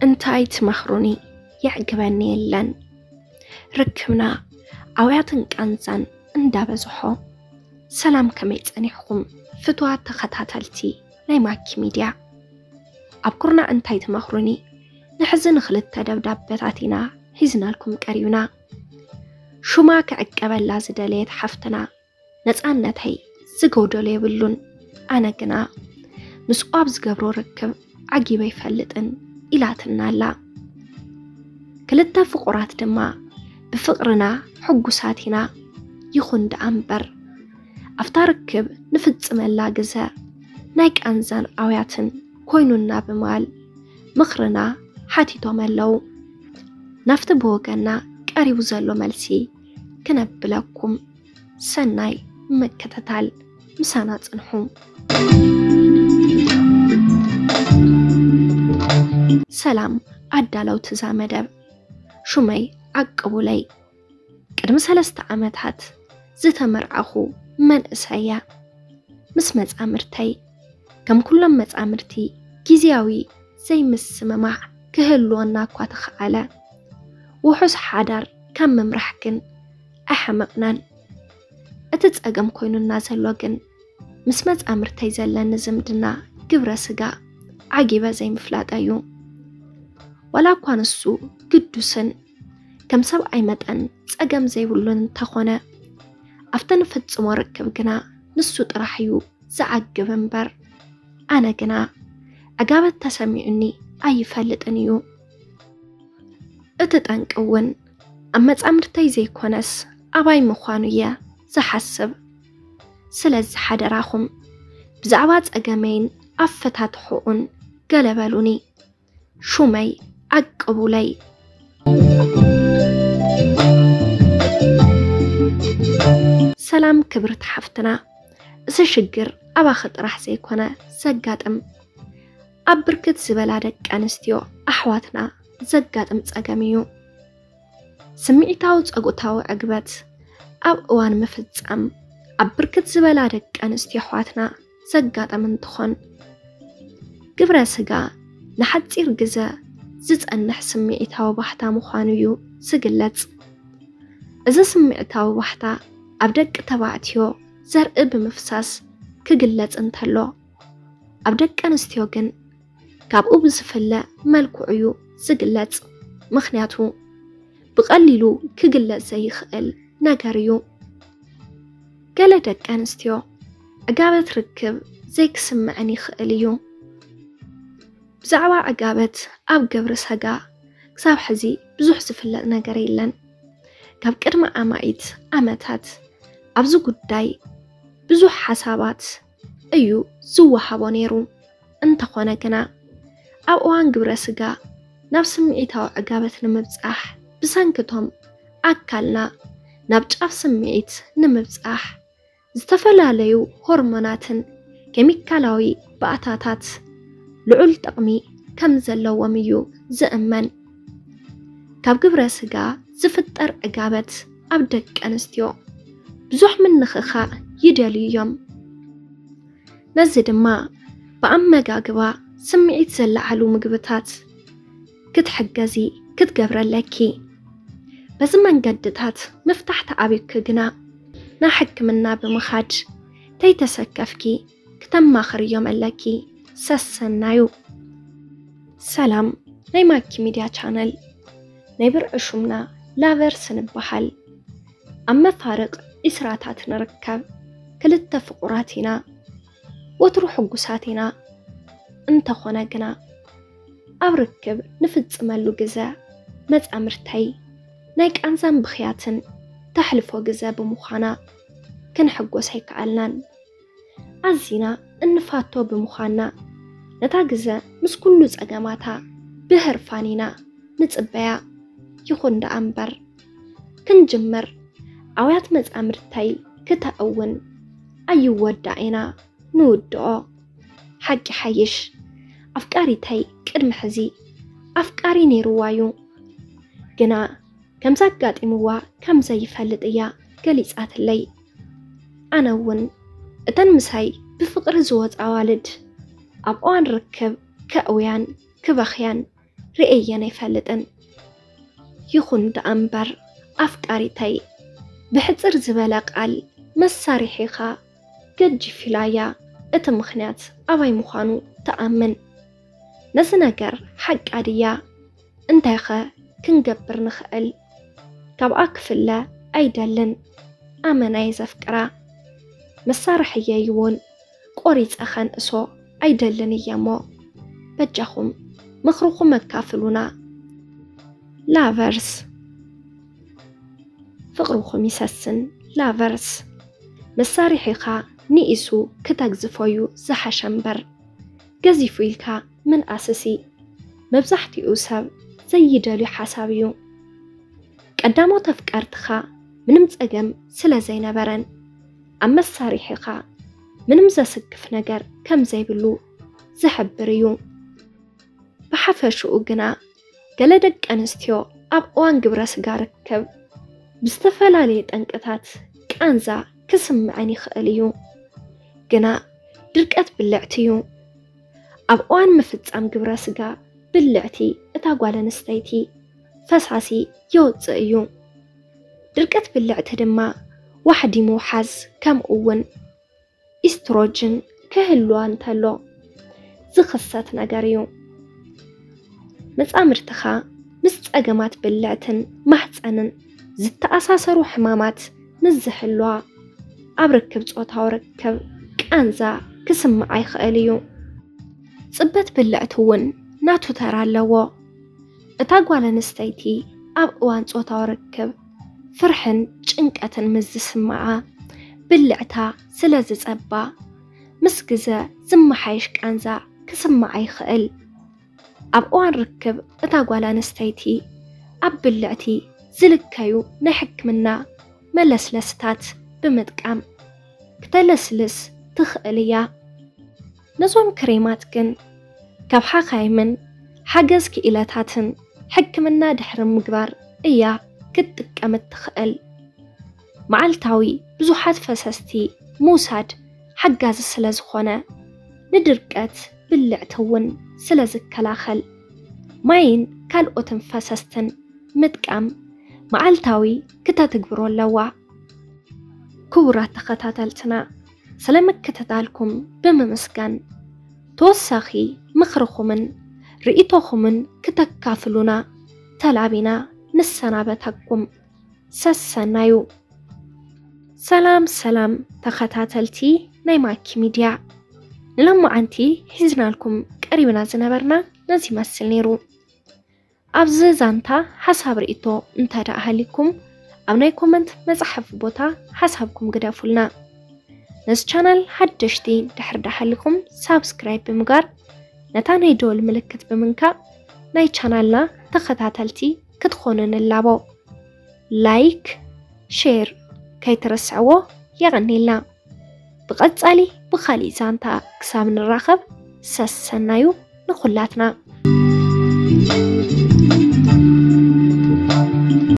እንታይ ትመኽሩኒ? የዕግበኒ የለን። ርክብና ኣውያትን ቃንዛን እንዳበዝሖ። ሰላም፣ ከመይ ጸኒሕኩም ፍትዋት ተኸታተልቲ ናይ ማኪ ሚድያ? ኣብ ኩርናዕ እንታይ ትመኽሩኒ? ንሕዚ ንኽልተ ደብዳበታት ኢና ሒዝናልኩም ቀሪብና። ሹማ ክዕቀበላ ዝደለየት ሓፍትና፣ ነጻነተይ ዝጎደሎ የብሉን፣ ኣነ ግና ምስኡ ኣብ ዝገብሮ ርክብ ዓጊበ ኣይፈልጥን ኢላትና ኣላ። ክልተ ፍቑራት ድማ ብፍቕርና ሕጉሳት ኢና። ይኹን ደኣ እምበር፣ ኣብታ ርክብ ንፍጽመላ ግዘ ናይ ቃንዛን ኣውያትን ኮይኑና ብምባል ምኽርና ሓቲቶም ኣለዉ። ናብቲ ብወገንና ቀሪቡ ዘሎ መልሲ ክነብለኩም። ሰናይ ምክትታል፣ ምሳና ጽንሑ። ሰላም ኣዳለውቲ እዛ መደብ፣ ሹመይ ዓቅቡለይ። ቅድሚ ሰለስተ ዓመታት ዝተመርዓኹ መንእሰይ እየ። ምስ መጻምርተይ፣ ከም ኩሎም መጻምርቲ፣ ግዝያዊ ዘይምስምማዕ ክህልወና እኳ ተኸኣለ፣ ውሑስ ሓዳር ካብ ምምራሕ ግን ኣይሓመቕናን። እቲ ጸገም ኮይኑና ዘሎ ግን ምስ መጻምርተይ ዘለኒ ዝምድና ግብረ ስጋ ዓጊበ ዘይምፍላጠይ እዩ። ዋላ እኳ ንሱ ግዱስን ከም ሰብኣይ መጠን ጸገም ዘይብሉን እንተኾነ፣ ኣብቲ ንፍጽሞ ርክብ ግና ንሱ ጥራሕ እዩ ዝዓግብ እምበር፣ ኣነ ግና ዕጋበት ተሰሚዑኒ ኣይፈልጥን እዩ። እቲ ጠንቂ እውን ኣብ መጻምድተይ ዘይኮነስ ኣባይ ምዃኑ እየ ዝሓስብ። ስለዚ ሓደራኹም ብዛዕባ ጸገመይን ኣፈታትሕኡን ገለ በሉኒ። ሹመይ ዓቅቡለይ። ሰላም ክብርቲ ሓፍትና፣ እዚ ሽግር ኣባኺ ጥራሕ ዘይኮነ ዘጋጥም፣ ኣብ ብርክት ዝበላ ደቂ ኣንስትዮ ኣሕዋትና ዘጋጥም ጸገም እዩ። ስምዒታዊ ጾታዊ ዕግበት ኣብ እዋን ምፍጻም ኣብ ብርክት ዝበላ ደቂ ኣንስትዮ ኣሕዋትና ዘጋጠም እንትኾን፣ ግብረ ስጋ ንሓጺር ግዘ ዝጸንሕ ስምዒታዊ ባህታ ምዃኑ እዩ ዝግለጽ። እዚ ስምዒታዊ ባህታ ኣብ ደቂ ተባዕትዮ ዘርኢ ብምፍሳስ ክግለጽ እንተሎ፣ ኣብ ደቂ ኣንስትዮ ግን ካብኡ ብዝፍለ መልክዑ እዩ ዝግለጽ። ምኽንያቱ ብቐሊሉ ክግለጽ ዘይኽእል ነገር እዩ። ገለ ደቂ ኣንስትዮ ዕጋበት ርክብ ዘይክስምዐን ይኽእል እዩ። ብዛዕባ ዕጋበት ኣብ ግብረ ሰጋ ክሳብ ሕዚ ብዙሕ ዝፍለጥ ነገር የለን። ካብ ቅድሚ ኣማኢት ዓመታት ኣብዚ ጉዳይ ብዙሕ ሓሳባት እዩ ዝወሃቦ ነይሩ። እንተኾነ ግና፣ ኣብ እዋን ግብረ ስጋ ናብ ስምዒታዊ ዕጋበት ንምብጻሕ፣ ብሰንክቶም ኣካልና ናብ ጫፍ ስምዒት ንምብጻሕ፣ ዝተፈላለዩ ሆርሞናትን ኬሚካላዊ ባእታታት ልዑል ጥቕሚ ከም ዘለዎም እዩ ዝእመን። ካብ ግብረ ስጋ ዝፍጠር ዕጋበት ኣብ ደቂ ኣንስትዮ ብዙሕ ምንኽኻእ ይደልዩ እዮም። ነዚ ድማ ብኣመጋግባ ስምዒት ዘለዓሉ ምግብታት ክትሕገዚ ክትገብረለኪ። በዚ መንገድታት ምፍታሕ ተኣብዩኪ ግና፣ ናብ ሕክምና ብምኻድ ተይተሰከፍኪ ክተማኽርዮም ኣለኪ። ሰሰናዩ። ሰላም ናይ ማኪ ሚድያ ቻነል፣ ናይ ብርዒ ሹምና ላቨርስ ንበሃል። ኣብ መፋርቕ ዒስራታት ንርከብ ክልተ ፍቑራት ኢና። ወትሩ ሕጉሳት ኢና። እንተኾነ ግና፣ ኣብ ርክብ ንፍጽመሉ ግዘ መጻምርተይ ናይ ቃንዛን ብኽያትን ተሕልፎ ግዘ ብምዃና፣ ክንሕጎስ ኣይከኣልናን። ኣዚና እንፋቶ ብምዃንና፣ ነታ ግዘ ምስ ኩሉ ጸገማታ ብህርፋን ኢና ንጽበያ። ይኹን ደኣ እምበር፣ ክንጅምር ኣውያት መጻምድተይ ክተእውን ኣይወዳእና ንውድኦ። ሓቂ ሓይሽ፣ ኣፍቃሪተይ ቅድሚ ሕዚ ኣፍቃሪ ነይርዋ እዩ። ግና ከምዚ ኣጋጢምዋ ከም ዘይፈልጥ እያ ገሊጻትለይ። ኣነ እውን እተን ምሳይ ብፍቕሪ ዝወጻ ኣዋልድ ኣብ እዋን ርክብ ከእውያን ክበኽያን ርእየን ኣይፈልጥን። ይኹን ደኣ እምበር ኣፍቃሪተይ፣ ብሕጽር ዝበለ ቃል መሳርሒኻ ገጅፍ ኢላያ። እቲ ምኽንያት ኣባይ ምዃኑ ትኣምን። ነዚ ነገር ሓቃ ድያ? እንታይኸ ክንገብር ንኽእል? ካብኣ ክፍለ ኣይደልን። ኣመናይ ዘፍቅራ መሳርሕየይ እውን ቆሪጸ ኸንእሶ ኣይደልን እየ እሞ፣ በጃኹም ምኽርኹም ኣካፍሉና። ላቨርስ፣ ፍቕርኹም ይሰስን። ላቨርስ፣ መሳርሒኻ ንኢሱ ክተግዝፎ እዩ ዝሓሸ እምበር፣ ገዚፉ ኢልካ ምንኣስሲ መብዛሕትኡ ሰብ ዘይደልዩ ሓሳብ እዩ። ቀዳሞት ኣፍቀርትኻ ምንም ጸገም ስለ ዘይነበረን፣ ኣብ መሳርሒኻ ምንም ዘስክፍ ነገር ከም ዘይብሉ ዝሕብር እዩ። ብሓፈሽኡ ግና፣ ገለ ደቂ ኣንስትዮ ኣብ እዋን ግብረ ስጋ ርክብ ብዝተፈላለየ ጠንቅታት ቃንዛ ክስምዐን ይኽእል እዩ። ግና ድርቀት ብልዕቲ እዩ። ኣብ እዋን ምፍጻም ግብረ ስጋ ብልዕቲ እታ ጓል ኣንስተይቲ ፈሳሲ የውጽእ እዩ። ድርቀት ብልዕቲ ድማ ዋሕዲ ምውሓዝ፣ ከምኡ እውን ኢስትሮጅን ክህልዋ እንተሎ ዝኽሰት ነገር እዩ። መጻምድትኻ ምስ ጸገማት ብልዕትን ማህጸንን ዝተኣሳሰሩ ሕማማት ምስ ዝህልዋ፣ ኣብ ርክብ ጾታዊ ርክብ ቃንዛ ክስምዓ ይኽእል እዩ። ጽበት ብልዕቲ እውን ናቱ ተራ ኣለዎ። እታ ጓል ኣንስተይቲ ኣብ እዋን ጾታዊ ርክብ ፍርሕን ጭንቀትን ምስ ዝስምዓ፣ ብልዕታ ስለ ዝጸባ፣ ምስ ግዘ ዝመሓየሽ ቃንዛ ክስምዓ ይኽእል። ኣብ እዋን ርክብ እታ ጓል ኣንስተይቲ ኣብ ብልዕቲ ዝልከዩ ናይ ሕክምና መለስለስታት ብምጥቃም ክተለስልስ ትኽእል እያ። ነዞም ክሬማት ግን ካብ ሓኻይምን ሓገዝ ክኢላታትን ሕክምና ድሕሪ ምግባር እያ ክትጥቀም እትኽእል። መዓልታዊ ብዙሓት ፈሰስቲ ምውሳድ ሓጋዚ ስለ ዝኾነ፣ ንድርቀት ብልዕቲ እውን ስለ ዝከላኸል፣ ማይን ካልኦትን ፈሰስትን ምጥቃም መዓልታዊ ክተትግብሮ ኣለዋ። ክቡራት ተኸታተልትና፣ ስለ ምክትታልኩም ብምምስጋን፣ ተወሳኺ ምኽርኹምን ርእይቶኹምን ክተካፍሉና ተላቢና ንሰናበተኩም። ሰሰናዩ። ሰላም ሰላም ተኸታተልቲ ናይ ማኪ ሚድያ፣ ንሎማዓንቲ ሒዝናልኩም ቀሪብና ዝነበርና ነዚ ይመስል ነይሩ። ኣብዚ ዛንታ ሓሳብ ርእይቶ እንተ ደኣ ሃሊኩም፣ ኣብ ናይ ኮመንት መጽሓፊ ቦታ ሓሳብኩም ግደፉልና። ነዚ ቻናል ሓደሽቲ ድሕር ደሓሊኹም ሳብስክራይብ ብምግባር፣ ነታ ናይ ደወል ምልክት ብምንካእ ናይ ቻናልና ተኸታተልቲ ክትኾኑ ንላቦ። ላይክ፣ ሼር ከይትረስዕዎ። የቐኔልና። ብቐጻሊ ብኻሊእ ዛንታ ክሳብ ንራኸብ ሰሰናዩ ንኹላትና።